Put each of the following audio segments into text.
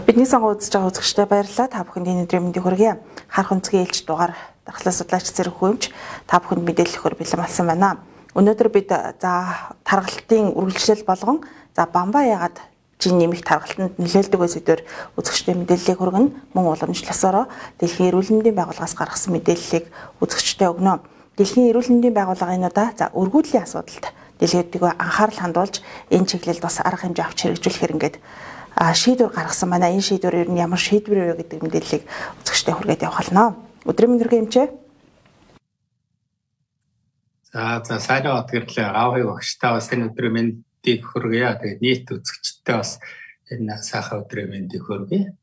Бидний сонгон үзэж байгаа үзэгчдээ баярлалаа. Та бүхэнд энэ өдрийн мэндийг хүргэе. Харах өнцгийн ээлж дугаар дархлаа судлаач зэрэг хүмж та бүхэнд мэдээлэл өгөхөөр бэлэн болсон байна. Өнөөдөр бид таргалтын үргэлжлэл болгон бамбаа яагаад жин нэмэх таргалтанд нөлөөлдөг сэдвээр үзэгчдээ мэдээллийг хүргэнэ. Мөн уламжлалсороо Дэлхийн эрүүл мэндийн байгууллагаас гаргасан мэдээллийг үзэгчдээ өгнө. Дэлхийн эрүүл мэндийн байгууллага энэ удаа өргүүдлийн асуудалд дэлгэдэггүй анхаарал хандуулж энэ чиглэлд бас арга хэмжээ авч хэрэгжүүлэхээр ингээд шийдвэр гаргасан байна. Энэ шийдвэр ер нь ямар шийдвэр вэ гэдэг мэдээллийг үзэгчдээ хүргээд явах болно. Өдрийн мэндийн эмчээ. За сайн удааглаа. Аавыг багштай бас энэ өдрийн мэндийг хүргэе. Тэгээд нийт үзэгчдээ бас энэ сайхан өдрийн мэндийг хүргэе.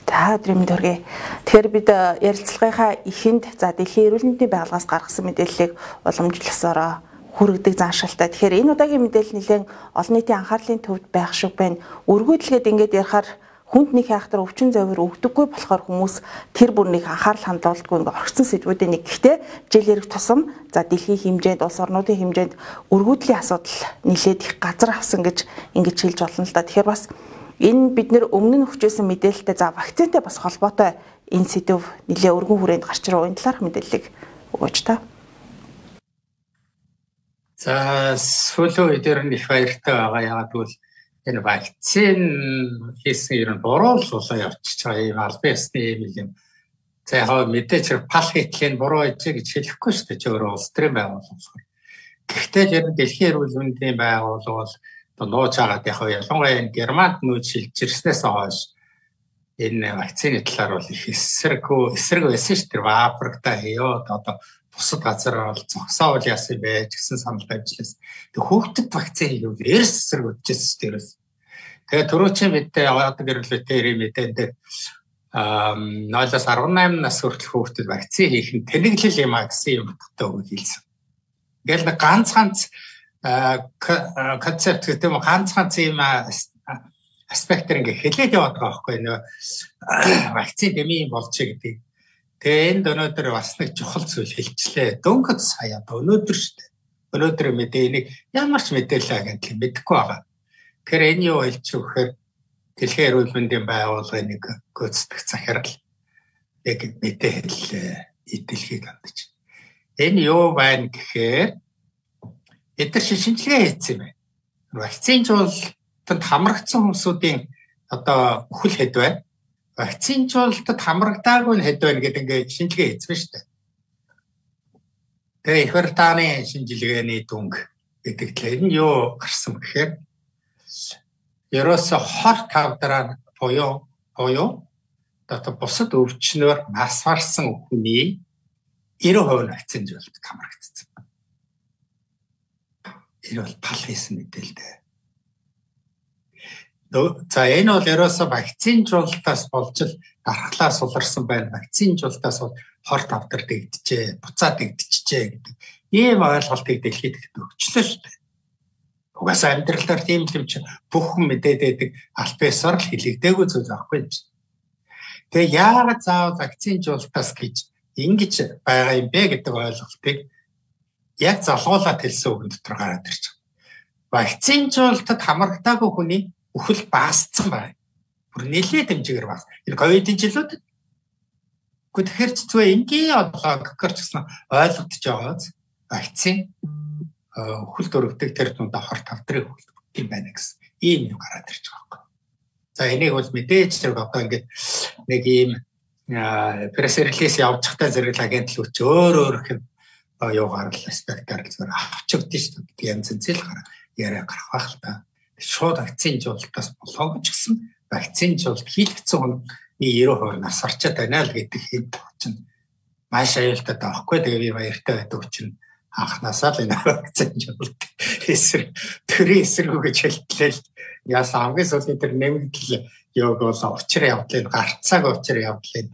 За өдрийн мэнд хүргэе. Тэгэхээр бид ярилцлагынхаа эхэнд Дэлхийн эрүүл мэндийн байгууллагаас гаргасан мэдээллийг уламжлалсараа хүргэдэг заншилтай. Тэгэхээр энэ удаагийн мэдээлэл нэлээд олон нийтийн анхаарлын төвд байх шиг байна. Өргөдлгээд ингээд ярихаар хүнд нэг хайхтар өвчин завир өгдөггүй болохоор хүмүүс тэр бүрнийг анхаарал хандуулдаггүй ингээд орхисон сэдвүүдийн нэг. Гэхдээ жил ирэх тусам дэлхийн хэмжээнд улс орнуудын хэмжээнд өргөдлийн асуудал нэлээд их газар авсан гэж ингэж хэлж болно л да. Тэгэхээр бас энэ бид нэр өмнө нь өгчөөсөн мэдээлэлтэй вакцинтай бас холбоотой энэ сэдв нэлээд өргөн хүрээнд гарч ирэх энэ талаарх мэдээллийг өгөөч та. За сүүлийн үеэр нь их баяртай байгаа. Яагаад гэвэл энэ вакцин хийсэн ер нь буруу л болоо явчихж байгаа юм албан ёсны юм. За яг мэдээж пал хийхлээр буруу гэж хэлэхгүй шүү дээ. Чи өөрөө улс төрийн байгууллага. Гэхдээ ер нь Дэлхийн эрүүл мэндийн байгууллага бол нууж агаад яг ялангуяа энэ Германд нүүж шилжиж ирснээс хойш энэ вакцины талаар бол их эсрэг байсан шүү дээ. Африкта хийё одоо бусад газар бол зогсоол яасан байж гэсэн санал ажилласан. Тэг хүүхдэд вакцин хийвэл эрс эсрэг үдчихсэн дээрээс. Тэгээ түрүүчийн мэдээ яваад гэрлэлтэй мэдээнд 0-18 нас хүртэл хүүхдэд вакцин хийх нь тэнэглэл юм а гэсэн юм өгөө хэлсэн. Ингээл нэг ганц концепт гэдэг юм ганц юм аспектээр ингээ хэлээд яваад байгаа байхгүй нөө вакцин дэмий болчих гэдэг. Тэгээ энд өнөөдөр бас нэг чухал зүйл хэлчихлээ. Дөнгөж сая өнөөдөр шүү дээ. Өнөөдөр мэдээнийг ямар ч мэдээлэл агентлаг мэдэхгүй байгаа. Тэгэхээр энэ юу хэлж өгөхээр Дэлхийн эрүүл мэндийн байгууллагын нэг гүйцэтгэх захирал яг мэдээ хэллээ. Идэлхийг хандаж. Энэ юу байна гэхээр эдгээр шинжилгээ хийсэн юм байна. Вакцинжуулалтанд хамрагдсан хүмүүсийн одоо үхэл хэд байна? Вакцинжуулалтад хамрагдаагүй нь хэд байна гэдэг ингээд шинжилгээ хийсэн шүү дээ. Тэгээ Их Британий шинжилгээний дүнг гэдэг л энэ юу гарсан гэхээр ерөөсө хор тавдраа буюу одоо бусад өвчнөөр нас барсан хүний 90% нь вакцинжуулалтад хамрагдсан. Энэ бол пал хийсэн мэдээлэл. За энэ бол ерөөсө вакцинжуулалтаас болж л дархлаа суларсан байна. Вакцинжуулалтаас хор тавдар дэгдэжээ, буцаа дэгдэжээ гэдэг ийм ойлголтыг дэлхийд өгчлөө шүү дээ. Угаасаа амьдралаар тийм л юм чи бүх хүн мэдээд байдаг албаасаар л хэлэгдээгүй зүйл байхгүй юм чи. Тэгээ яагаад заавал вакцинжуулалтаас гэж ингэж байгаа юм бэ гэдэг ойлголтыг яг залгуулаад хэлсэн үг дотор гараад ирж байгаа. Вакцинжуулалтад хамрагдаагүй хүний үхэл баасцсан байна. Бүр нэлээд хэмжээгээр баас. Энэ ковидын жилүүд. Тэгэхээр зүгээр энгийн одлоо гэхэр ч гэсэн ойлгогдож байгааз вакцин үхэл дөрөвдөг тэр тундаа хор тавдрыг үхэлдэг юм байна гэсэн. Ийм юм гараад ирж байгаа юм. За энийг бол мэдээж одоо ингээд нэг ийм пресс-релиз явж захтай зэрэг агентлаг өч өөр хэм юугаар л спектакл зүгээр авчигдсан шүү дээ. Янз янз л яриа гарах байх л та. Шууд вакцинжуулалтаас болоогүй ч гэсэн вакцинжуулалт хийгдсэн хүний 90% нас барчаад байна л гэдэг хэд чинь маш аюултай таахгүй. Тэгээ би баяртай байдаг учраас анханасаа л энэ вакцинжуулалт эсрэг төрийн эсрэг гэж хэлтлээ. Яасан хамгийн сүүлийн тэр нэмэгдэл яг бол учир явдлыг гарцааг учир явдлыг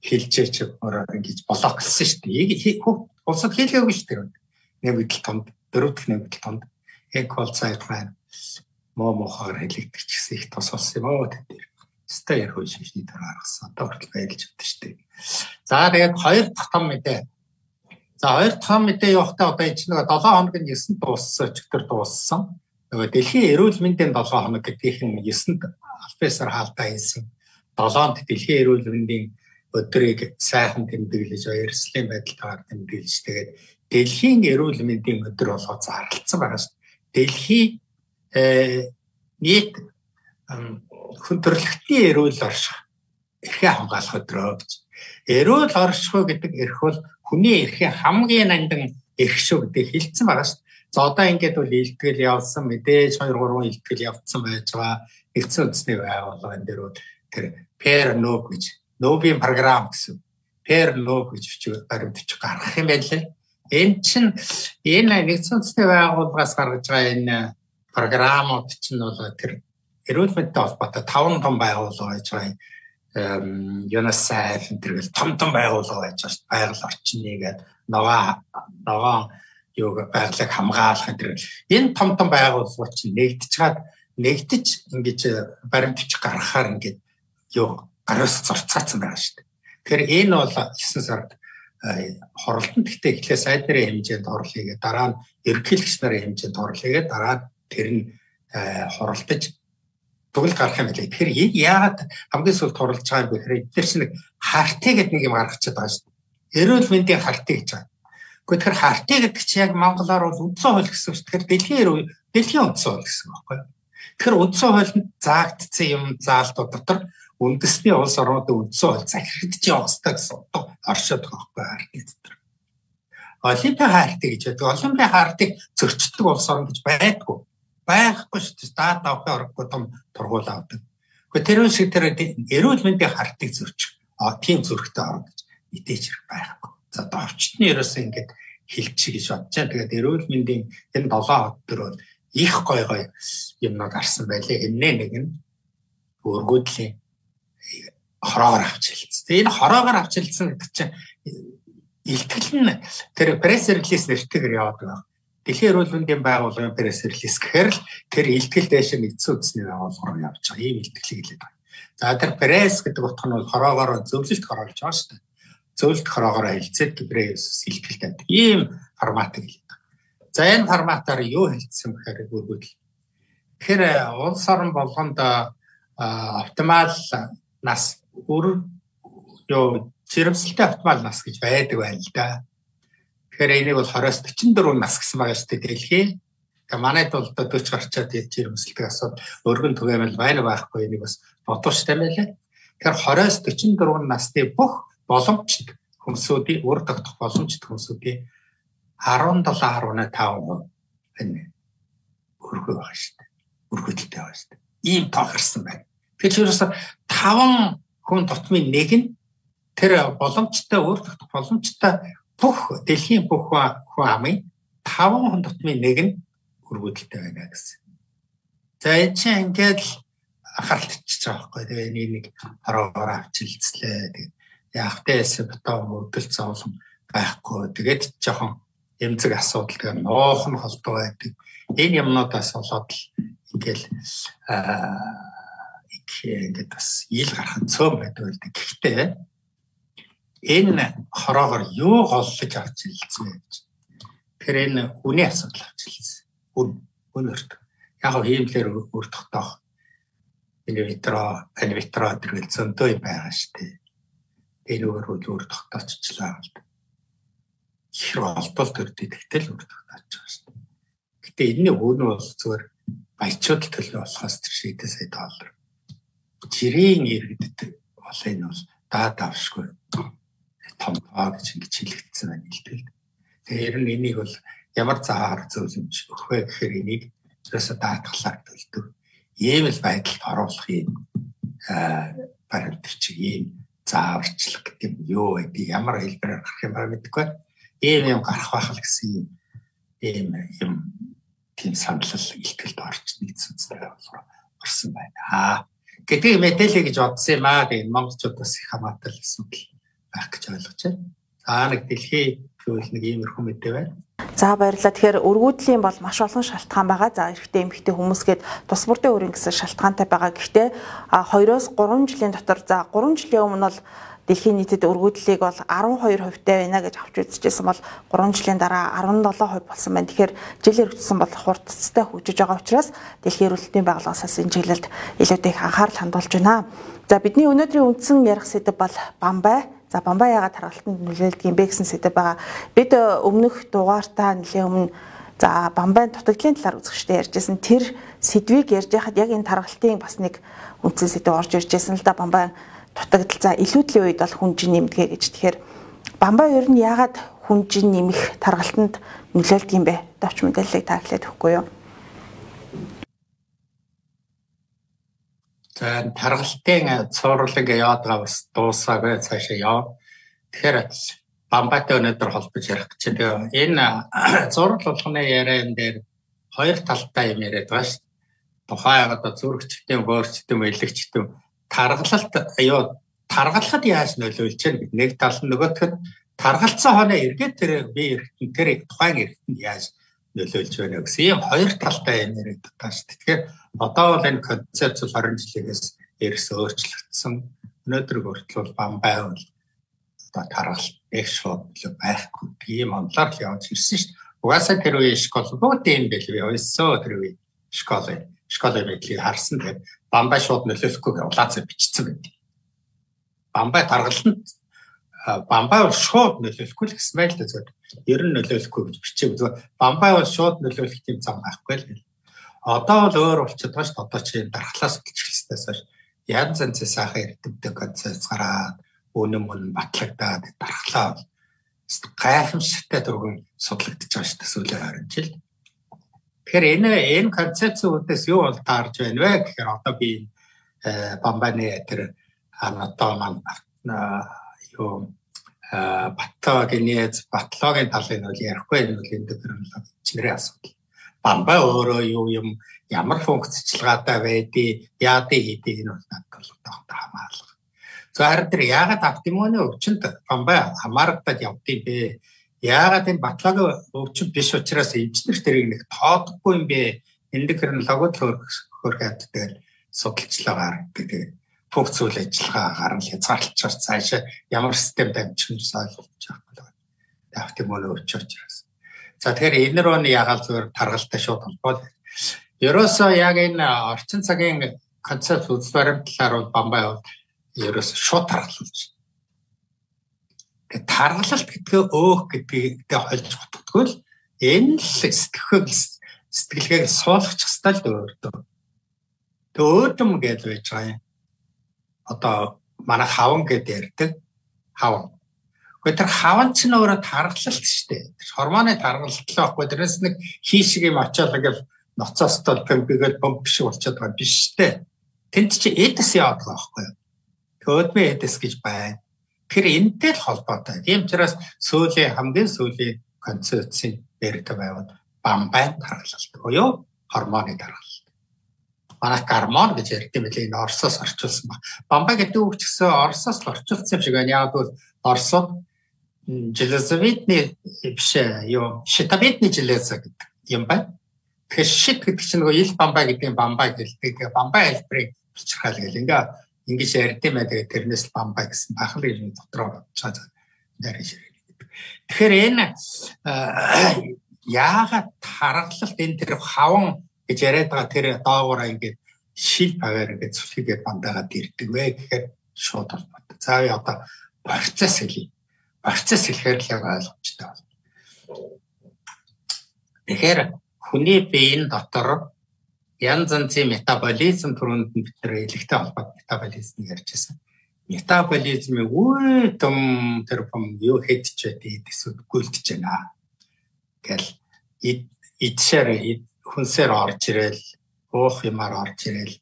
хэлжээч ингэж блоклсан шүү дээ. Улсад хийлгээгүй шүү дээ. Нэмэгдэл тонд, дөрөвдөх нэмэгдэл тонд экол сайт байна. Мохоор хэлэгдэх гэсэн их тос болсон юм аа тэр. Стээр хөө шишний дараа гаргасан. Одоо хүртэл байлж өгдөө шүү дээ. За тэгээд хоёр дахь том мэдээ. За хоёр дахь том мэдээ явахдаа одоо энэ чинь 7 хоногийн 9-нд дууссан, өчигдөр дууссан. Нөгөө Дэлхийн эрүүл мэндийн 7 хоног гэдгийг нь 9-нд албасаар хаалтаа хийсэн 7-нд дэлхийн эрүүл мэндийн өдрийг сайхан тэмдэглэж баярслын байдалтайгаар тэмдэглэж тэгээд дэлхийн эрүүл мэндийн өдөр болгоод зарлалцсан байгаа шүү дээ. Дэлхийн нийт хүн төрөлхтний эрүүл орших эрхээ хамгаалах өдрөө гэж. Эрүүл оршихуй гэдэг эрх бол хүний эрхийн хамгийн нандин эрх шүү гэдэг хэлсэн байгаа шүү дээ. За одоо ингээд бол илтгэл явуулсан мэдээж 2-3 илтгэл явуулсан байж байгаа. Нэгдсэн үндэсний байгууллага энэ дээр тэр per no гэж Нобелийн програм гэсэн per no гэж баримтч гаргах юм байна лээ. Энэ чинь энэ нэгдсэн үндэсний байгууллагаас гаргаж байгаа энэ програмууд чинь бол тэр эрүүл мэндтэй холбоотой 5 том байгууллага байж байгаа. UNICEF энэ том байгууллага байж байгаа шүү дээ. Байгаль орчны гэдэг ногоон юу байгалыг хамгаалах энэ том байгууллагууд чинь нэгдэж ингэж баримтч гаргахаар ингэж юу гараас зурцаацсан байгаа шүү дээ. Тэгэхээр энэ бол 9 сард хоролтонд гэхдээ эхлээ сайд нарын хэмжээнд орлыгээ дараа нь ерөнхийлөгч нарын хэмжээнд орлыгээ дараа нь тэр нь хоролтож төгөл гарах юм билээ. Тэгэхээр энэ яагаад хамгийн сүүлд хорлож байгаа юм бэ гэхээр эдгээр чинь хартыг гэдэг нэг юм гаргачихад байгаа шүү дээ. Эрүүл мэндийн хартыг гэж байгаа. Гэхдээ тэр хартыг гэдэг чинь яг монголоор бол үндсэн хууль гэсэн үг шүү. Тэгэхээр дэлхийн үндсэн хууль гэсэн үг байхгүй юу? Тэгэхээр үндсэн хуулинд заагдсан юм заалтууд дотор үндэсний улс орнуудын үндсэн хууль захирагдж явах хэрэгтэй гэсэн оршоод байгаа байхгүй хартыг дотор. Олимпийн хартыг гэж байдаг. Олимпийн хартыг зөрчдөг улс орн гэж байдгүй. Байхгүй шүү дээ. Даад давхын орохгүй том тургуул авдаг. Гэхдээ тэр шиг тэр эрүүл мэндийн хартыг зөрчих. Тийм зөрөгтэй орно гэж мэдээж байхгүй. За давчтны ерөөсөө ингэж хэлчих гэж бодож байгаа. Тэгээд эрүүл мэндийн энэ 7 өдөр бол их гой юмнууд гарсан байлээ. Энэ нэг нь өргөдлийн хороогоор авч хэлсэн. Энэ хороогоор авч хэлсэн гэдэг чинь илтгэл нь тэр пресс релиз нэртэйгээр яваад байгаа. Дэлхийн эрүүл мэндийн байгууллагын пресс релиз гэхээр л тэр илтгэл дэше нэгдсэн үндэсний байгууллага руу явж байгаа. Ийм илтгэлийг хэлээд байна. За тэр пресс гэдэг утга нь бол хороогоор зөвлөлт хороолж байгаа шүү дээ. Зөвлөлт хороогоор хэлцээд пресс илтгэл тавьдаг. Ийм форматыг хэлээд байна. За энэ форматаар юу хэлсэн бэхээр үргэлж. Тэгэхээр улс орн болгонд оптимал нас жирэмслэлтэй оптимал нас гэж байдаг байна л да. Тэгэхээр энийг бол 20-44 нас гэсэн байгаа шүү дээ дэлхий. Тэгээ манайд бол 40 гарчаад жирэмслэлтэй асууд өргөн түгээмэл байхгүй энийг бас бодууштай байлаа. Тэгэхээр 20-44 насны бүх боломжит хүмүүсүүдийн үр дагах боломжит хүмүүсүүдийн 17.5% энэ өргөө байгаа шүү дээ. Өргөдөлтэй байгаа шүү дээ. Ийм тохирсон байна. Тэгэхээр 5 хүн тутмын нэг нь тэр боломжтой үр дагах боломжтой бүх дэлхийн бүх хүн амын 5 хүн тутмын нэг нь өргөдөлтэй байна гэсэн. За энэ чинь ингээд анхааралтай байгаа байхгүй. Тэгээ нэг хороогоор авч хэлцлээ. Тэгээ явахтайс бутаа мөдөл зовлон байхгүй. Тэгээд жоохон эмзэг асуудал тэгээ нуухан холбоо байдаг. Энэ юмнуудаас болоод л ингээл ингээд бас ил гарах цөм байдаг л дээ. Гэхдээ энэ хороогоор юу голлож авч хэлсэн бэ гэж. Тэгэхээр энэ үний асуудал авч хэлсэн. Үнэрт. Яг нь хиймлэр өртөхтөөх. Инвитро тэргэл зөндөө байгаа шүү дээ. Энэ өртөхтөцчлаа л. Ихэр олдол төрдөй тэгтэл өртөхтөж байгаа шүү дээ. Гэтэ энэний өвнө бол зүгээр баячууд төлөө болохоос тэр шийдээ сая $. Жирийн иргэдэд бол энэ бол даад авшгүй том гэж ингэж хэлэгдсэн байна хэлбэл. Тэгэхээр энийг бол ямар заагаар зөвлөмж өгөх вэ гэхээр энийг ерөөсө даатгалаар төлдөг. Ийм л байдалд оруулах юм баримтч ийм зааварчлах гэдэг юм юу гэдэг ямар хэлбэрээр гарах юм ба мэдэхгүй. Ийм гарах байх л гэсэн юм тийм санал илтгэлд орж нэгдсэн зүйл орсон байна. Гэдэг мэдээлэл гэж бодсон юм аа. Тэгээд монголчууд бас их хамаатай л асуудал байх гэж ойлгож байна. За нэг дэлхийн Тэгвэл нэг иймэрхүү мэдээ байна. За баярлалаа. Тэгэхээр өргүүдлийн бол маш олон шалтгаан байгаа. За эрэгтэй эмэгтэй хүмүүсгээд тус бүрдийн өрийн гэсэн шалтгаантай байгаа. Гэхдээ 2-3 жилийн дотор 3 жилийн өмнө бол дэлхийн нийтэд өргөдлөлийг бол 12% байна гэж авч үзчихсэн бол 3 жилийн дараа 17% болсон байна. Тэгэхээр жил өргөцсөн бол хурдцтай хөгжиж байгаа учраас Дэлхийн эрүүл мэндийн байгууллагаас энэ чиглэлд илүү их анхаарал хандуулж байна. За бидний өнөөдрийн үндсэн ярих сэдэв бол бамбай. За бамбай яагаад тархалтанд нөлөөлдөг юм бэ гэсэн сэдэв байгаа. Бид өмнөх дугаартаа нэлээд өмнө за бамбайн дутагдлын талаар үзэгчтэй ярьжсэн. Тэр сэдвийг ярьж байхад яг энэ тархалтын бас нэг үндсэн сэдэв орж ирж байсан л да. Бамбай дутагдал за илүүдлийн үед бол хүнжин нэмдэгэ гэж. Тэгэхээр бамбай ер нь яагаад хүнжин нэмэх тархалтанд нөлөөлдөг юм бэ? Товч мэдээллийг та хэлээд өгөхгүй юу? За тархалтын цуурлаг яваад байгаа бас дуусаагүй цаашаа яв. Тэгэхээр бамбайтай өнөөдөр холбож ярих гэж байна. Энэ зураг болгоны яриан дээр хоёр талтай юм яриад байгаа шүү дээ. Тухайн одоо зүрхчтэй, хөөрчтэй, элэгчтэй таргалахад яаж нөлөөлж байна гэдэг нэг тал нь нөгөөхд таргалцсан хоноо эргээд тэр бие эргэтэн тэр тухайн эргэтэнд яаж нөлөөлж байна гэсэн ийм хоёр талтай юм яриад байгаа шүү дээ. Тэгэхээр одоо бол энэ концепц 20 жилээс эрс өөрчлөгдсөн. Өнөөдөр хүртэл бамбай бол одоо таргалт их шууд байхгүй ийм онлоор л явж ирсэн шүү дээ. Угаасаа тэр үеийн школ бүгд юм байлгүй. Өссөө тэр үеийн школын байдлыг харсан. Тэгээд бамбай шууд нөлөөлөхгүй улаацаа бичсэн байдаг. Бамбай таргаланд бамбай бол шууд нөлөөлөхгүй л гэсэн байл та зөв. Ер нь нөлөөлөхгүй гэж бичээгүй зөв. Бамбай бол шууд нөлөөлөх юм зам байхгүй л. Одоо бол өөр болчиход байгаа шүү дээ. Одоо чи дархлаас болчихлоос хойш янз янзын сайхан эрдэмтэд концепц гараад үнэн батлагдаад дархлаа гайхамшигтай төгөн судлагдчих байгаа шүү дээ сүүлийн 20 жил. Тэгэхээр энэ концепцийн үднэс юу бол таарж байна вэ гэхээр одоо би бамбайны тэр анатом батлоогийн талын бол ярихгүй энэ бол эндокринологи чинэрийн асуудал. Бамбай өөрөө юу юм ямар функцчлогаатай байдгийг яадыг хийдэг энэ бол надад бол одоо хамаарлага. За харин тэр яагаад автоиммуны өвчнөд бамбай хамаарагдаад явдгийг бэ? Яагаад энэ батлоогийн өвчин биш учраас эмчнэр тэрийг нэг тоодохгүй юм бэ? Эндокринологид хөрхөд дээр судалжлагаар гэдэг функц үйл ажиллагаа гарна хязгаарлалчаар цаашаа ямар системд амжих нь ойлгож байгаа юм. Автоиммуны өвчин учраас. За тэгэхээр энэ рүү яагаад зөвөр таргалтай шууд холбоод ерөөсөө яг энэ орчин цагийн концепт үзэл баримтлалаар бол бамбай бол ерөөсөө шууд таргалуулж. Тэгээд таргалалт гэдгээ өөх гэдгийг хольж готдоггүй л энэ л сэтгэлгээг суулгачих стал өөртөө. Тэг өөдөм гэж байж байгаа юм. Одоо манай хаван гэдээ ярьдаг хаван. Гэхдээ тэр хаван ч нөөрэ таргалалт шүү дээ. Гормоны таргалалт л байхгүй. Тэрээс нэг хийшиг юм очиад ингээл ноцоос тол пэмпигээл бомб шиг болчиход байгаа биш дээ. Тэнд чи эдэс яваад байгаа байхгүй. Төөдмө эдэс гэж байна. Тэр энэтэй л холбоотой. Тийм учраас хамгийн сүүлийн концепцийн ярьдаг байвал бамбай таргалалт буюу гормоны таргалалт. Манай гормон гэж ярьдаг юм лээ. Энэ Оросоос орчуулсан ба. Бамбай гэдэг үг ч гэсэн Оросоос л орчуулсан юм шиг байна. Яг бол Оросод железовидный щитовидный железо гэдэг юм байна. Тэгэхээр шит гэдэг чинь нөгөө ил бамбай гэдэг юм бамбай гэлдэг. Бамбай хэлбэрийг бичрхаал гэл ингэж ярьд юм аа. Тэрнээс л бамбай гэсэн бахал гэж дотроо бодчиход яриа ширээ. Тэгэхээр энэ яагаад таргалалт энэ тэр хаван гэж яриад байгаа тэр доогоороо ингээд шил пагаар гэж сүлхийгээд бандаагаад ирдэг вэ гэхээр шууд холбоотой. За одоо процесс хэлье. Процесс хэлэхээр л ойлгомжтой байна. Тэгэхээр хүний биеийн дотор янз янзын метаболизм түрүүнд бид нэр элэгтэй холбоотой метаболизм ярьж байсан. Метаболизмын үе том тэр бом юу хэдэж байдгийг төсөвгүүлж байна. Гэл идшэр хүнсээр орж ирэл, уух юмар орж ирэл,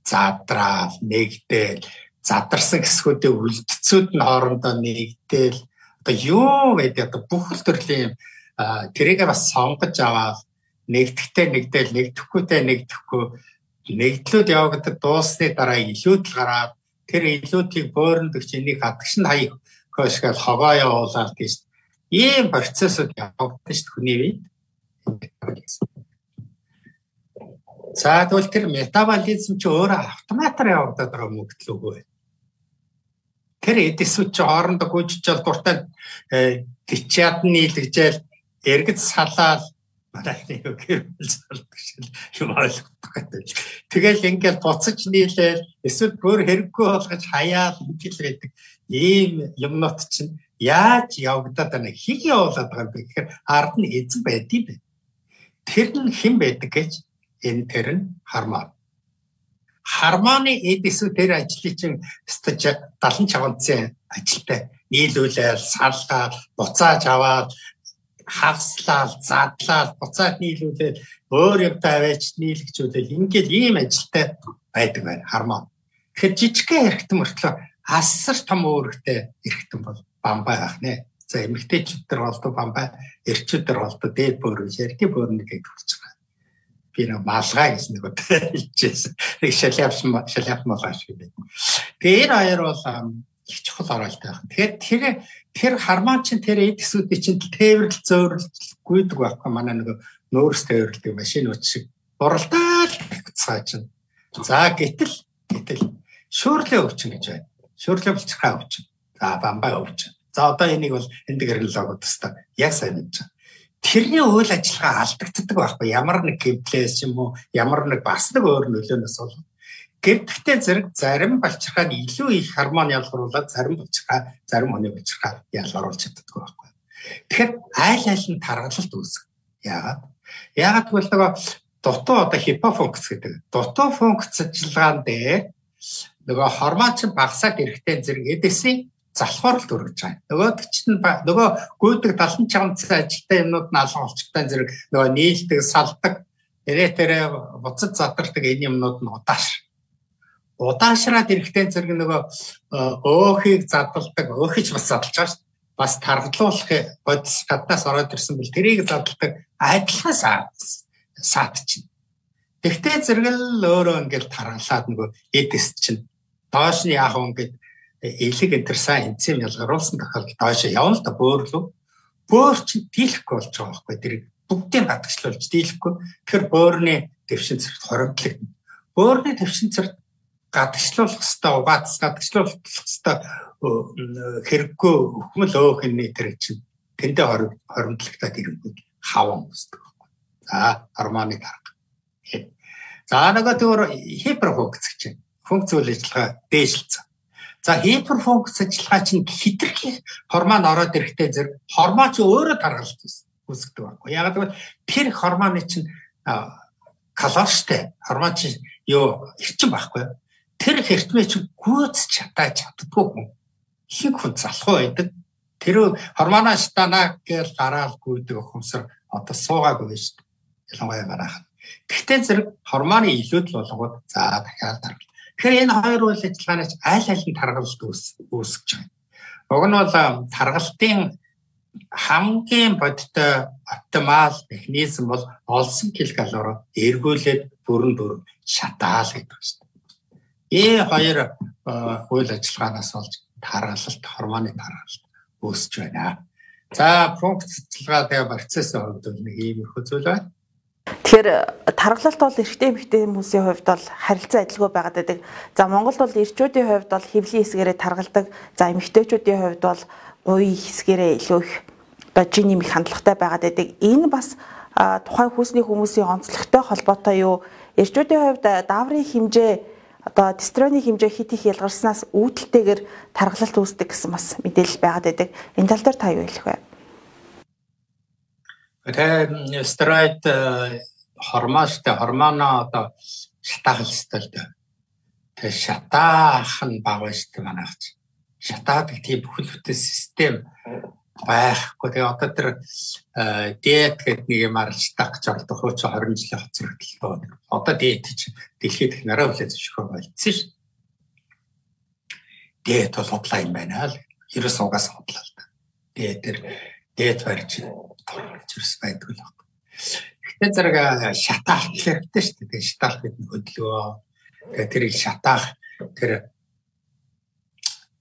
задраал, нэгдэл, задарсан хэсгүүдээ үлдцүүд нь хоорондоо нэгдэл. Одоо юу гэдэг одоо бүх төрлийн тэрийг бас сонгож аваад нэгдэхтэй нэгдэл, нэгдэхгүйтэй нэгдэхгүй, нэгдлүүд явагдаад дуусны дараа илүүдл гараад тэр илүүдийг бөөрөнд өгч энийг хадагш нь хаяг хөөшгөл хогоо явуулаад тийш Ийм процессыг явуулдаг шүү хүний үед. За тэгвэл тэр метаболизм чи өөрөө автоматар явагдаад байгаа мөгдөл үгүй. Тэр эдисүүд чи хоорондоо гүйжиж дуртай гिचяд нийлэгжэл эргэц салаал манайхны юм ойлгох гэдэг. Тэгэл ингээл буцаж нийлээл эсвэл бүр хэрэггүй болгож хаяал ингээл байдаг. Ийм юмнууд чинь яаж явагдаад байна? Хийг явуулаад байгаа юм бэ гэхээр ард нь эзэн байдгийг бэ. Тэр нь хэн байдаг гэж энэ тэр нь гормон. Гормоны эдисүүд тэр ажлыг чинь 75% ажилтай. Нийлүүлэл, салгаад, буцааж аваад, хагслал, задлал, буцаад нийлүүлэл, өөр юмтай аваач нийлгчүүлэл ингээл ийм ажилтай байдаг байна гормон. Тэгэхээр жижигхэн эргэтэн мөртлөө асар том өөрөгтэй эргэтэн бол бамбай ах нэ. За эмэгтэйчүүдээр болдог бамбай, эрчүүдээр болдог дээд бөөрөөр ярдийн бөөрнийг хэлж байгаа. Би нэг малгай гэж нэг удаа хэлчихсэн. Нэг шалявч малгай шиг байна. Тэр хоёр бол их чухал оролтой байна. Тэгэхээр тэр гормон чинь тэр эдисүүдийн чинь тээвэрлэл зөөрөл гүйдэг байхгүй манай нэг нөөц тээвэрлдэг машинууд шиг буралдаал цааж. За гэтэл шүүрлээ өвчин гэж байна. Шүүрлээ булчирхай өвчин. За бамбай өвчин. За одоо энийг бол эндгэрнлогод тастаа яг сайн мэдэж байна. Тэрний үйл ажиллагаа алдагддаг байхгүй ямар нэг гэмтлээс юм уу ямар нэг бас нэг өөр нөлөөнөөс бол гэвтгтээ зэрэг зарим булчирхайд илүү их гормон ялгаруулаад зарим булчирхай зарим хүний булчирхай ялгаруулж чаддаг байхгүй. Тэгэхээр айл нь таргалалт үүсгэх. Яагаад гэвэл нөгөө дутуу одоо хипофункц гэдэг. Дутуу функц ажиллагаан дээр нөгөө гормон чинь багасаад ирэхтэй зэрэг эдисийн залхууралт өргөж байгаа. Нөгөөд чинь нөгөө гүйдэг 75% ажилтай юмнууд нь алга болчихтой зэрэг нөгөө нийлдэг, салдаг, тэрэ буцаж задардаг энэ юмнууд нь удаашраад ирэхтэй зэрэг нөгөө өөхийг задалдаг, өөхөж бас задалж байгаа шүү. Бас таргалуулах бодис гаднаас ороод ирсэн бэл тэрийг задалдаг адилхан саатчин. Тэгтээ зэрэг л өөрөө ингээл таргалаад нөгөө эдис чинь доош нь яах вэ ингээд элег энтерсэн энзим ялгаруулсан тохиолдолд доош явна л да бөөрлөө. Бөөр чинь дийлэхгүй болж байгаа байхгүй тэр бүгдийг гадагшлуулж дийлэхгүй. Тэгэхээр бөөрийн дэвшин цэрэгт хоримтлагдана. Бөөрийн дэвшин цэрэгт гадагшлуулах хэвээр угаацс гадагшлуулах хэвээр хэрэггүй хөхмөл өөхний тэр чинь тэндээ хоримтлагдаад ирэнгүүт хаван үүсдэг байхгүй. За гормоны дарга. За нөгөө тэр хиперфункц гэж функц үйл ажиллагаа дээшлэлцэн. За хиперфункц ажиллагаа чинь хитрхи гормон ороод ирэхтэй зэрэг гормон ч өөрөө таргалт үүсгдэг байхгүй. Яг гэвэл тэр гормоны чинь калориштэй гормон чинь эрчим байхгүй. Тэр эрчмээ чинь гүйцэж чаддаггүй хүн. Их хүн залхуу байдаг. Тэр гормоноос танаа гэж гараал гүйдэг хумсар одоо суугаагүй шүү дээ. Ялангуяа гарах. Гэхдээ зэрэг гормоны илүүдл болгоод за дахиад таргал. Тэгэхээр энэ хоёр үйл ажиллагаанаас аль нь таргалт үүсгэж байгаа. Уг нь бол таргалтын хамгийн бодиттой оптимал механизм бол олсон килокалори эргүүлээд бүрэн шатаал гэдэг шүү дээ. Хоёр үйл ажиллагаанаас болж таргалт, гормоны таргалт үүсэж байна. За функц ажиллагаа тэгээ процессын хувьд нэг иймэрхүү зүйл байна. Тэгэхээр таргалалт бол эрэгтэй эмэгтэй хүмүүсийн хувьд бол харилцан адилгүй байгаад байдаг. За Монголд бол эрчүүдийн хувьд бол хэвлийн хэсгээрээ таргалдаг. За эмэгтэйчүүдийн хувьд бол гуй хэсгээрээ илүү их жинийн их хандлагатай байгаад байдаг. Энэ бас тухайн хүүсний хүмүүсийн онцлогтой холбоотой юу? Эрчүүдийн хувьд дааврын хэмжээ одоо тестостероны хэмжээ хит их ялгарснаас үүдэлтэйгээр таргалалт үүсдэг гэсэн бас мэдээлэл байгаад байдаг. Энэ тал дээр та юу хэлэх вэ? Тэгээ стероид гормоно одоо шатаах хэвээр дээ. Тэгээ шатаах нь бага шүү дээ манайх. Шатаадаг тийм бүхэл бүтэн систем байхгүй. Тэгээ одоо тэр диет гэдэг нэг юм арилждаг гэж ордог хуучин 20 жилийн хоцрогдол. Одоо диет чинь дэлхийд их нараа хүлээж зөвшөөрөх болсон шүү. Диет бол худлаа юм байна л. 90 угаас худлаа л да. Диет барьж чирс байдаг л байна. Гэхдээ зэрэг шатаах хэрэгтэй шүү дээ. Шатаах гэдэг нь хөдөлгөө. Тэгээ тэрийг шатаах тэр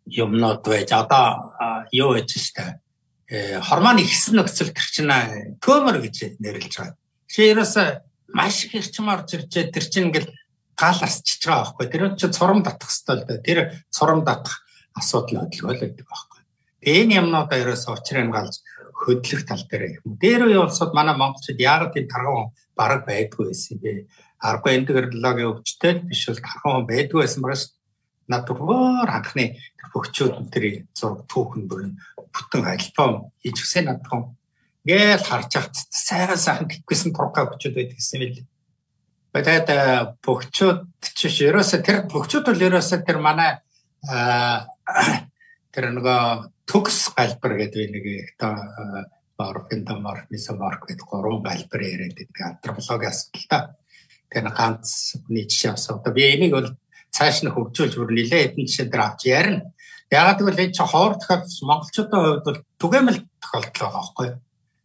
юмнууд байж одоо юу гэж штэ хормон ихсэн нөхцөл тэр чинь төмөр гэж нэрлэж байгаа. Тэгэхээр ерөөсөө маш их эрчим орж ирж тэр чинь ингээл гал асчиж байгаа байхгүй. Тэр чинь цурам татах хэрэгтэй л дээ. Тэр цурам татах асуудал хөдөлгөөл байдаг байхгүй. Энэ юмнуудаа ерөөсөө учрыг галж хөдлөх тал дээр юм. Дээр үе улсууд манай монголчууд яагаад тийм тархан бараг байдгүй байсан бэ? Аргагүй энэ технологийн өвчтэй биш бол тархан байдгүй байсан байгаа шүү. Надад анхны бөхчүүд тэр зураг түүхэн бүрэн бүтэн альбом хийж өгсөн надад. Ингээл харж ахт сайхан гэхгүйсэн турка бөхчүүд байдаг гэсэн юм л. Тэгээд бөхчүүд чиш ерөөсө тэр бөхчүүд бол ерөөсө тэр манай тэр нөгөө төгс галбар гэдэг нэг морфин гэдэг гурван галбар яриад байдаг антропологи асуудалтай. Тэр ганц хүний жишээ авсан. Би энийг бол цааш нь хөгжүүлж бүр нэлээд хэдэн жишээ дээр авч ярина. Яагаад гэвэл энэ чинь хоор тохиолдол монголчуудын хувьд бол түгээмэл тохиолдол байгаа байхгүй.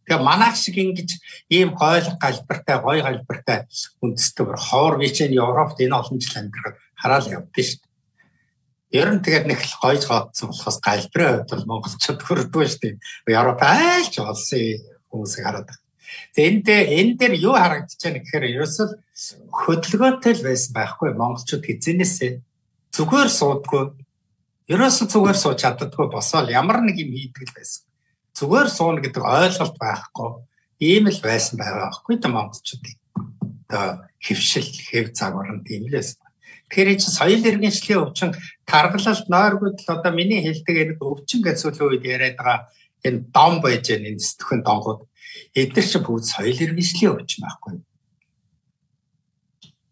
Тэгээ манайх шиг ингэж ийм гойлог галбартай, гоё галбартай үндэстэй хоор вичэн Европт энэ олон жил амьдрах хараал явдсан шүү дээ. Ер нь тэгээд нэг л гоёж гоодсон болохоос галбарын хувьд бол монголчууд хүрдгүй шүү дээ. Европ айлч олсон хүмүүсийг хараад байна. Тэгээ энэ дээр юу харагдаж байна гэхээр ерөөсөө хөдөлгөөтэй л байсан байхгүй монголчууд хизэнээсээ зүгээр суудгүй. Ерөөсөө зүгээр сууж чаддаггүй босоод ямар нэг юм хийдэг л байсан. Зүгээр сууна гэдэг ойлголт байхгүй. Ийм л байсан байгаа байхгүй та монголчуудын. Одоо хөвшил, хэв загвар нь тийм л байсан. Тэгэхээр энэ соёл иргэншлийн өвчин таргалалт нойргууд л одоо миний хэлдэг энэ өвчин гэж сүүлийн үед яриад байгаа энэ дом байж энэ сэтгхэн донгууд эдгээр чинь бүгд соёл иргэншлийн өвчин байхгүй.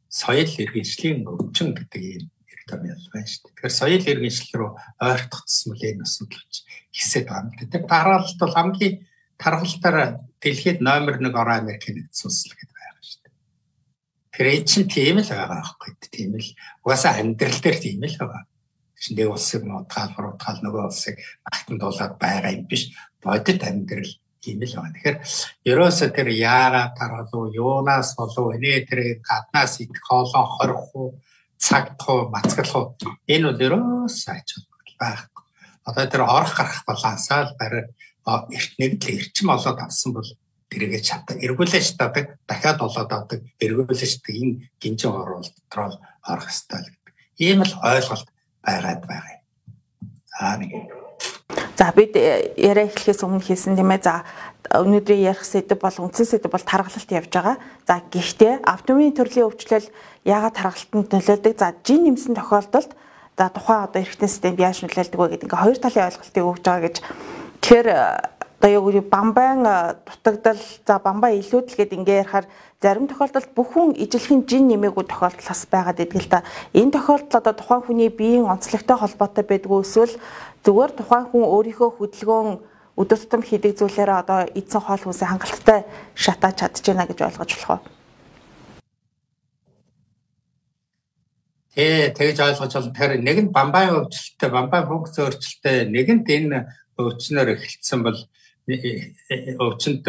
Соёл иргэншлийн өвчин гэдэг юм юм байна шүү дээ. Тэгэхээр соёл иргэншил рүү ойртогдсон мөл энэ асуудал хэсэд байгаа юм. Тэр таргалалт бол хамгийн таргалтаар дэлхийд номер 1 орон Америкийн нэгдсэн улс л гэдэг байгаа шүү дээ. Тэгэхээр энэ чинь тийм л байгаа байхгүй. Тийм л угаасаа амьдрал дээр тийм л байгаа. Чинь нэг улсыг утгаал нөгөө улсыг багтандуулаад байгаа юм биш. Бодит амьдрал тийм л байна. Тэгэхээр ерөөсөө тэр яагаад таргалуу, юунаас болов, энэ тэр гаднаас идэх хоолоо хорих уу, цагтах уу, мацгалах уу, энэ бол ерөөсөө ач холбогдол байхгүй. Одоо тэр орох гарах балансаа л барай эртнийг л эрчим олоод авсан бол тэргээ чаддаг. Эргүүлж чаддаг, дахиад олоод авдаг, эргүүлж чаддаг энэ гинжин оролт дотроо орох ёстой л гэдэг. Ийм л ойлголт байгаад байгаа юм. Нэг за бид яриа эхлэхээс өмнө хийсэн тийм ээ. За өнөөдрийн ярих сэдэв бол үндсэн сэдэв бол таргалалт явж байгаа. За гэхдээ автомобилийн төрлийн өвчлөл яагаад таргалтанд нөлөөлдөг? За жин нэмсэн тохиолдолд за тухайн одоо эрхтэн системд яаж нөлөөлдөг вэ гэдэг ингээ хоёр талын ойлголтыг өгж байгаа гэж. Тэгэхээр одоо юу бамбайн дутагдал за бамбай илүүдэл гэдэг ингээ ярихаар зарим тохиолдолд бүх хүн ижилхэн жин нэмээгүй тохиолдол бас байгаад идэг л та. Энэ тохиолдол одоо тухайн хүний биеийн онцлогтой холбоотой байдгүй эсвэл зүгээр тухайн хүн өөрийнхөө хөдөлгөөн өдөр тутам хийдэг зүйлээрээ одоо эдсэн хоол хүнсээ хангалттай шатааж чадж байна гэж ойлгож болох уу? Тэгж ойлгож болно. Тэгэхээр нэг нь бамбайн өвчлөлттэй, бамбайн функц өөрчлөлттэй, нэгэнт энэ өвчнөр эхэлсэн бол өвчнөд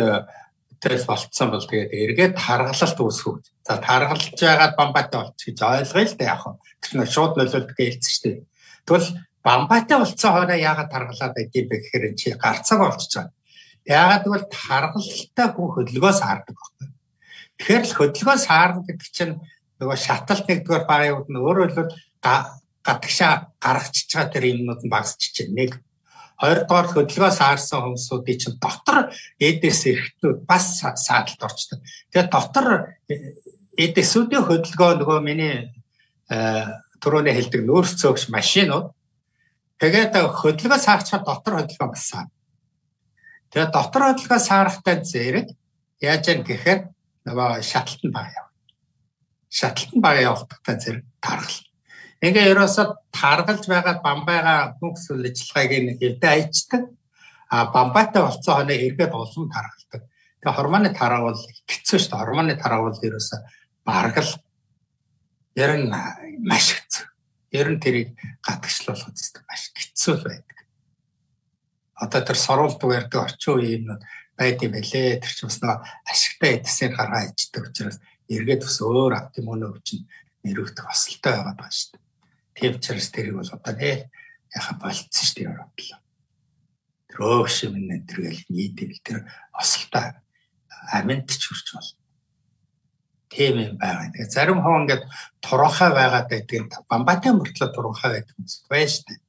тэл болцсон бол тэгээд эргээд таргалалт үүсгүү. За таргалж байгаад бамбайтай болчих гэж ойлгоё л да яг хөө. Тэр нь шууд нөлөөлдөг хэлсэн шүү дээ. Тэгвэл бамбайтай болцсон хоороо яагаад таргалаад байдгийг бэ гэхээр чи гарцааг болчихж байгаа. Яагаад гэвэл таргалалтай хүн хөдөлгөөс хаардаг байхгүй. Тэгэхээр л хөдөлгөөс хаарна гэдэг чинь нөгөө шаталт нэгдүгээр багууд нь өөрөөр хэлбэл гадагшаа гаргачихж байгаа тэр юмнууд нь багасчих чинь нэг. Хоёрдугаар хөдөлгөөс хаарсан хүмүүсүүдийн чинь дотор эдээс эрэхтнүүд бас сааталд орчдог. Тэгээд дотор эдээсүүдийн хөдөлгөөн нөгөө миний түрүүний хэлдэг нүүрс цөөгч машинууд тэгээд хөдөлгөөс хаарчаад дотор хөдөлгөөн бассан. Тэгээд дотор хөдөлгөөс хаарахтай зэрэг яаж яах гэхээр нөгөө шаталтанд бага яв. Шаталтанд бага явахдаа зэрэг таргал. Ингээ ерөөсө таргалж байгаа бамбайга бүхс үйлчилгааг нэг хэвдэ айчдаг. Бамбайтай болцсон хоноо эргээд улам таргалдаг. Тэгээ хормоны таргал хэцүү шүү дээ. Хормоны таргал ерөөсө бараг л ер нь маш хэцүү. Ер нь тэрийг гадагшлуулах гэдэг маш хэцүү байдаг. Одоо тэр сорулт уярдаг орчин үеийн байд юм байлээ. Тэр чинь бас нэг ашигтай эдсээр гаргаа ичдэг учраас эргээд бас өөр автомобиль өвчин нэрвэх тосолтой байгаад байна шүү дээ. Тийм учраас тэрийг бол одоо яхаа болцсон шүү дээ Европ. Трөөгшим нэтэргээл нийтэл тэр осолтой аминд ч хүрч бол. Тийм юм байгаа. Тэгээ зарим хоо ингээд туранхай байгаад байдаг. Бамбатай мөртлөө туранхай байдаг юм байна шүү дээ.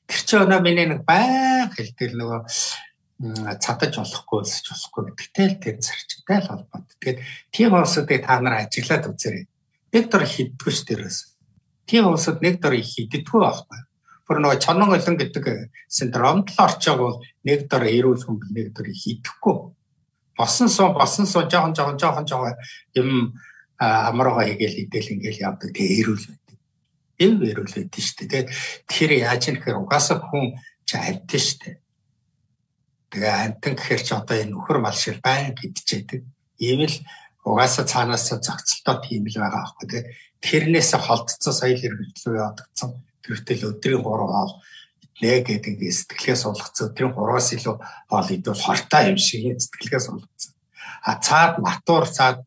Тэр чинь өнөө миний нэг байг хэлдэг нөгөө цадаж болохгүй өлсөж болохгүй гэдэгтэй л тэр зарчимтай л холбоотой. Тэгээд тийм хүмүүсийг та нар ажиглаад үзээрэй. Нэг дор хиддэггүй ш тэрээс. Тийм хүмүүсд нэг дор хиддэггүй байхгүй. Бүр нөгөө чонон олон гэдэг синдромд л орчоог бол нэг дор эрүүл хүмбэл нэг дор хиддэхгүй. Босон суу жоохон юм амраа хийгээл идэл ингээл явдаг. Тэгээ эрүүл байдаг. Эрүүл байдаг шүү дээ. Тэгэхээр яаж юм гэхээр угаасаа хүн ч амьтан шүү дээ. Тэгээ амтан гэхээр ч одоо энэ нөхөр мал шиг байн гэдчихэдэг. Ийм л угаасаа цаанаас зохицолтой тийм л байгаа аахгүй. Тэгээ тэрнээс холдсон соёл хэрэглээ явагдсан. Тэртэл өдрийн 3 хоол иднэ гэдэг ингээд сэтгэлээс суулгацсан. Өдрийн 3-аас илүү хоол идвэл хортой юм шиг сэтгэлээс суулгацсан. Цаад матур цаад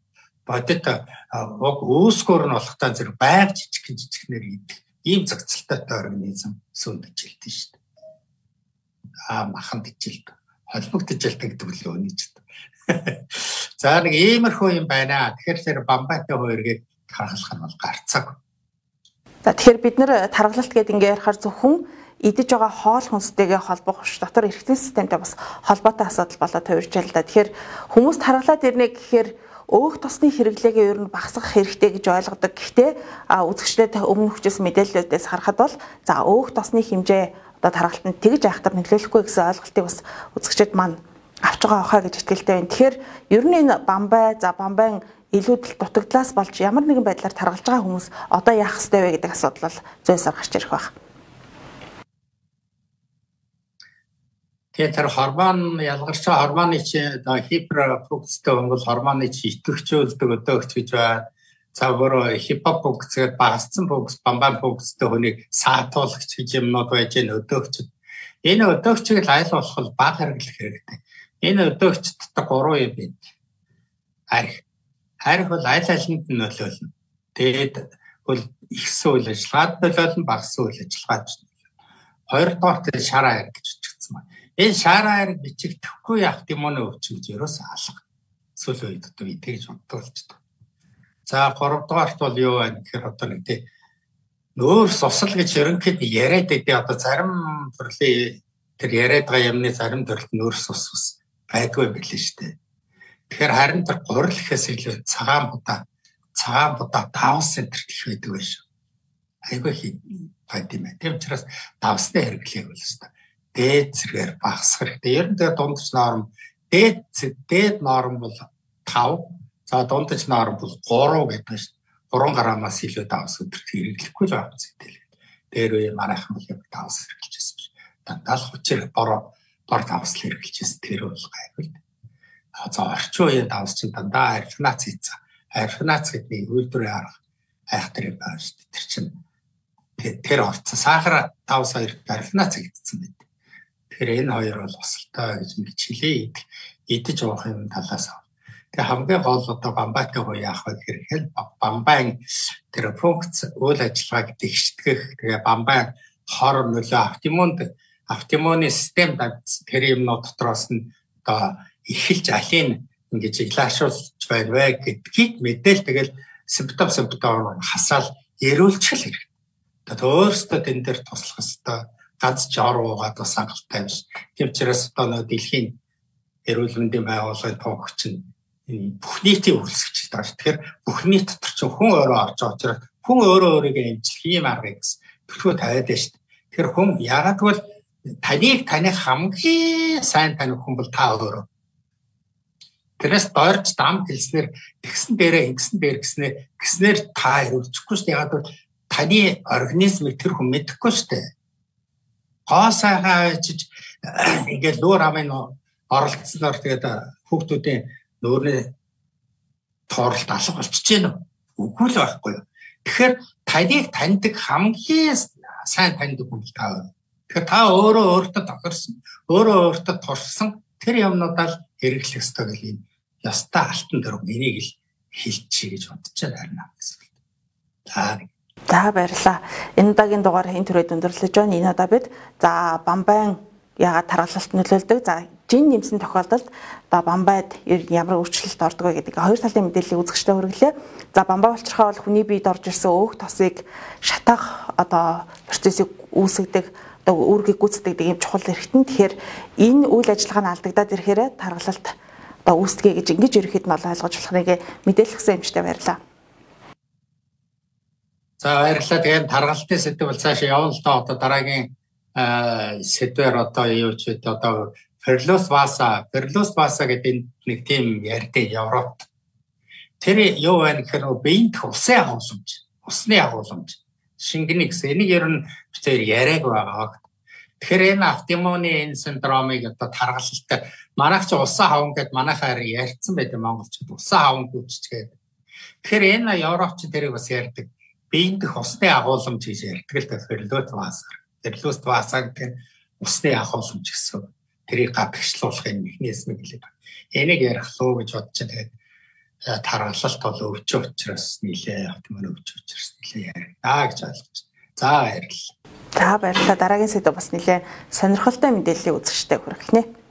бодит өөсгөр нь болохтой зэрэг байг жижигнэр идэг. Ийм зохицолтой организм сүндэж илтэн шүү дээ. Махан дижилт. Холбогдож илтэн гэдэг л өнөж дээ. За нэг иймэрхүү юм байна. Тэгэхээр бамбайтай хоёрыг харгалах нь бол гарцаг. За тэгэхээр бид нэр таргалалт гэдэг ингээ ярихаар зөвхөн идэж байгаа хоол хүнстэйгээ холбох ш дотор эргэтийн системтэй бас холбоотой асуудал болоод хувирч байна л да. Тэгэхээр хүмүүс таргалаад ирнэ гэхээр өөх тосны хэрэглээгээ ер нь багасгах хэрэгтэй гэж ойлгодог. Гэхдээ үзэгчдэд өмнө хүчээс мэдээллүүдээс харахад бол за өөх тосны хэмжээ одоо таргалтанд тэгж айхтар нөлөөлөхгүй гэсэн ойлголтыг бас үзэгчдэд маань авч байгаа хаа гэж итгэлтэй байна. Тэгэхээр ер нь энэ бамбайн илүүдэл дутагдлаас болж ямар нэгэн байдлаар таргалж байгаа хүмүүс одоо яах ёстой вэ гэдэг асуудал бол зөөсөр гарч ирэх байна. Тэгээд тэр гормон ялгарч байгаа гормоны чи хиперфункцтэй хүн бол гормоны чи идэвхжүүлдэг өдөөгч гэж байна. За бүр хипофункц гэдэг багассан функц, бамбайн функцтэй хүнийг саатуулагч гэж юмнууд байж гэн өдөөгч. Энэ өдөөгчийг айл болох баг хэрэглэх хэрэгтэй. Энэ өдөөгч дотор 3 юм байна. Харих бол аль алинд нь нөлөөлнө. Тэгээд бол ихсэн үйл ажиллагаад нөлөөлнө, багассан үйл ажиллагаад нөлөөлнө. Хоёрдугаар нь шараа хариг гэж бичигдсэн байна. Энэ шараа хариг бичигдэхгүй явах гэмоны өвчин гэж ерөөсөө алга. Сүүлийн үед одоо итгэж боддолчтой. За гуравдугаарт бол юу байна гэхээр одоо нэг тийм нөөр сусал гэж ерөнхийд яриад байдیں۔ Одоо зарим төрлийн тэр яриад байгаа юмны зарим төрөлд нөөр сус байдгүй байлээ шүү дээ. Тэгэхээр харин тэр гурил гэхээс илүү цагаан будаа 5 цм гэх байдаг байх шүү. Айгүй байд юм байна. Тийм учраас давсны хэрэглээг бол өстой. Дээд зэргээр багасгах хэрэгтэй. Ер нь тэр дундч норм дээд норм бол 5. За дундч норм бол 3 гэдэг шүү. 3 граммаас илүү давс өдөрт хэрэглэхгүй л байгаа зүйл. Дээр үе манайхан бол давс хэрэглэжсэн биш. Дандаа л хүчээр бор давс хэрэглэжсэн тэр бол гайгүй. За орчин үеийн давс чинь дандаа арифнац хийцээ. Арифнац гэдэг үйлдвэрийн арга айхтар юм байна шүү дээ. Тэр чинь тэр орцсон сахар давс хоёр арифнац хийгдсэн байт. Тэгэхээр энэ хоёр бол осолтой гэж нэг чилээ идэж уух юм талаас. Тэгээ хамгийн гол одоо бамбайтай хоо яах вэ гэхээр бамбайн тэр функц үйл ажиллагааг дэвштгэх тэгээ бамбайн хор нөлөө автоиммуны систем тэр юмнууд дотроос нь одоо эхэлж алийг ингэж илаашуулж байна вэ гэдгийг мэдээл тэгэл симптом хасаал эрүүлчих л хэрэгтэй. Тэгээд өөрөөсөө тэн дээр туслах хэвээр ганц жор уугаад бас хангалттай биш. Тийм учраас одоо нөө дэлхийн эрүүл мэндийн байгууллагын тунхагч нь бүх нийтийн үйлсгч байгаа. Тэгэхээр бүх нийт дотор ч хүн өөрөө орж байгаа учраас хүн өөрийгөө эмчлэх юм арга гэсэн төлөвөө тавиад байна шүү дээ. Тэгэхээр хүн яагаад гэвэл таних хамгийн сайн таних хүн бол та өөрөө. Тэрээс дорж дам хэлснээр тэгсэн дээрээ ингэсэн дээр гэснээр та өрөвчихгүй шүү дээ. Яагаад гэвэл таны организмыг тэр хүн мэдэхгүй шүү дээ. Гоосайгаа чиж ингээд нүүр амын оролцсноор тэгээд хүүхдүүдийн нүүрний тооролт алга болчихж гэнэ. Үгүй л байхгүй юу. Тэгэхээр таныг таньдаг хамгийн сайн таньдаг хүн та өөрөө. Тэгэхээр та өөртөө тохирсон, өөртөө туршсан тэр юмнуудаа л хэрэглэх ёстой гэх юм. Ястаа алтан дөрөв энийг л хэлчихье гэж бодож байна гэсэн. За баярлалаа. Энэ удаагийн дугаар энэ төрөйд өндөрлөж байна. Энэ удаа бид за бамбайн яагаад тархалт нөлөөлдөг? За жин нэмсэн тохиолдолд одоо бамбайд ямар өөрчлөлт ордог вэ гэдэг хоёр талын мэдээллийг үзэгчтэй хүргэлээ. За бамбай болчихрохоо бол хүний биед орж ирсэн өөх тосыг шатаах одоо процессыг үүсгэдэг, одоо үүргийг гүйцэтгэдэг ийм чухал эрхтэн. Тэгэхээр энэ үйл ажиллагаа нь алдагдаад ирэхээр тархалт одоо үүсгэе гэж ингэж ерөөхдөө нь ойлгож болох нэг мэдээлэлсэн юмштай баярлаа. За баярлалаа. Тэгээд тархалтын сэдв бол цаашаа явна л доо. Одоо дараагийн сэдвэр одоо юу ч вэ? Одоо Перлос Васа гэдэг нэг тийм ярьдаг Европ. Тэр юу вэ гэхээр биеийн усын агуулмж, усны агуулмж. Шингэний гэсэн энийг ер нь битээр яриаг байгаа. Тэгэхээр энэ автоиммуны энэ синдромыг одоо тархалтай манайх ч усан хавн гэдээ манайхаар ярьсан байдаг монголчууд усан хавн гүйцэтгэдэг. Тэгэхээр энэ Европч тэрийг бас ярьдаг. Биеийн дэх усны агуулмж гэж ярьдаг л да Перлос Васа гэдэг усны агуулмж гэсэн. Тэрийг гадагшлуулахын механизм гэлээ. Энийг ярих луу гэж бодож тэгээд тархалт бол өвчөө учраас нилээ автоиммун өвчөө учраас нилээ ярина гэж ойлгож. За баярлалаа. За баярлалаа. Дараагийн сэдв бас нэлээд сонирхолтой мэдээллийг үзэгчтэй хүргэнэ.